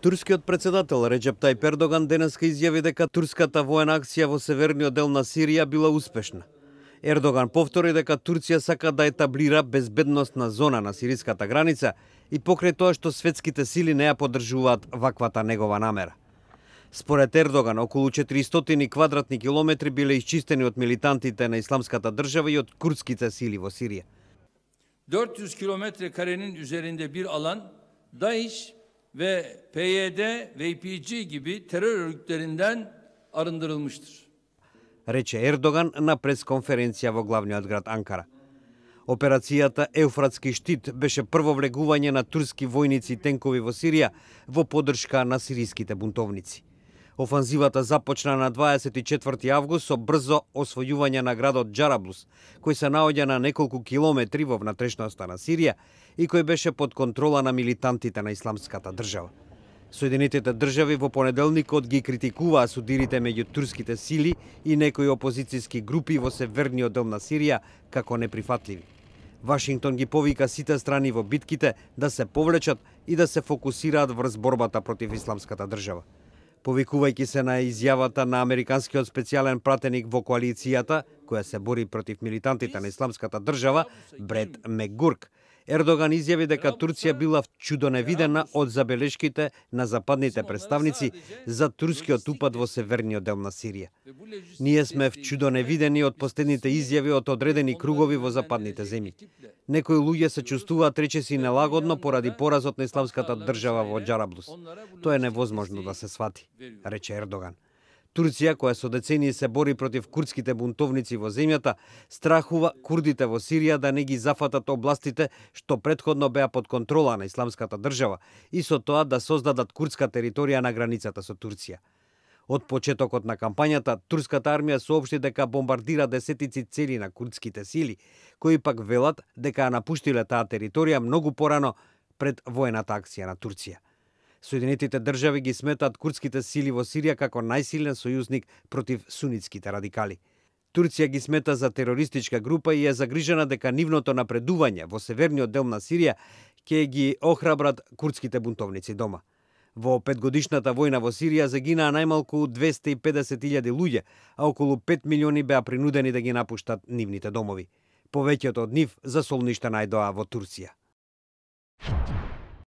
Турскиот председател Реджеп Тајип Ердоган денеска изјави дека турската воена акција во северниот дел на Сирија била успешна. Ердоган повтори дека Турција сака да етаблира безбедносна зона на сириската граница и покрај тоа што светските сили не ја поддржуваат ваквата негова намера. Според Ердоган, околу 400 квадратни километри биле исчистени од милитантите на Исламската држава и од курдските сили во Сирија. 400 kilometre karenin üzerinde bir alan DAEŞ ve PYD ve YPG gibi terör örgütlerinden arındırılmıştır. Рече Ердоган на пресконференција во главниот град Анкара. Операцијата Еуфратски штит беше прво влегување на турски војници и тенкови во Сирија во поддршка на сириските бунтовници. Офанзивата започна на 24 август со брзо освојување на градот Џараблус, кој се наоѓа на неколку километри во внатрешноста на Сирија и кој беше под контрола на милитантите на Исламската држава. Соединетите држави во понеделникот ги критикуваа судирите меѓу турските сили и некои опозицијски групи во северниот дел на Сирија како неприфатливи. Вашингтон ги повика сите страни во битките да се повлечат и да се фокусираат врз борбата против Исламската држава. Повикувајќи се на изјавата на американскиот специјален пратеник во коалицијата, која се бори против милитантите на Исламската држава, Бред Мекгурк, Ердоган изјави дека Турција била чудоневидена од забелешките на западните представници за турскиот упад во северниот дел на Сирија. Ние сме чудоневидени од последните изјави од одредени кругови во западните земји. Некои луѓе се чувствуваат речиси нелагодно поради поразот на Исламската држава во Џараблус. Тоа е невозможно да се свати, рече Ердоган. Турција, која со децении се бори против курдските бунтовници во земјата, страхува курдите во Сирија да не ги зафатат областите што претходно беа под контрола на Исламската држава и со тоа да создадат курдска територија на границата со Турција. Од почетокот на кампањата, турската армија соопшти дека бомбардира десетици цели на курдските сили, кои пак велат дека ја напуштиле таа територија многу порано пред воената акција на Турција. Соединетите држави ги сметаат курдските сили во Сирија како најсилен сојузник против сунитските радикали. Турција ги смета за терористичка група и е загрижена дека нивното напредување во северниот дел на Сирија ќе ги охрабрат курдските бунтовници дома. Во 5-годишната војна во Сирија загинаа најмалку 250.000 луѓе, а околу 5 милиони беа принудени да ги напуштат нивните домови. Повеќето од нив за солништа најдоа во Турција.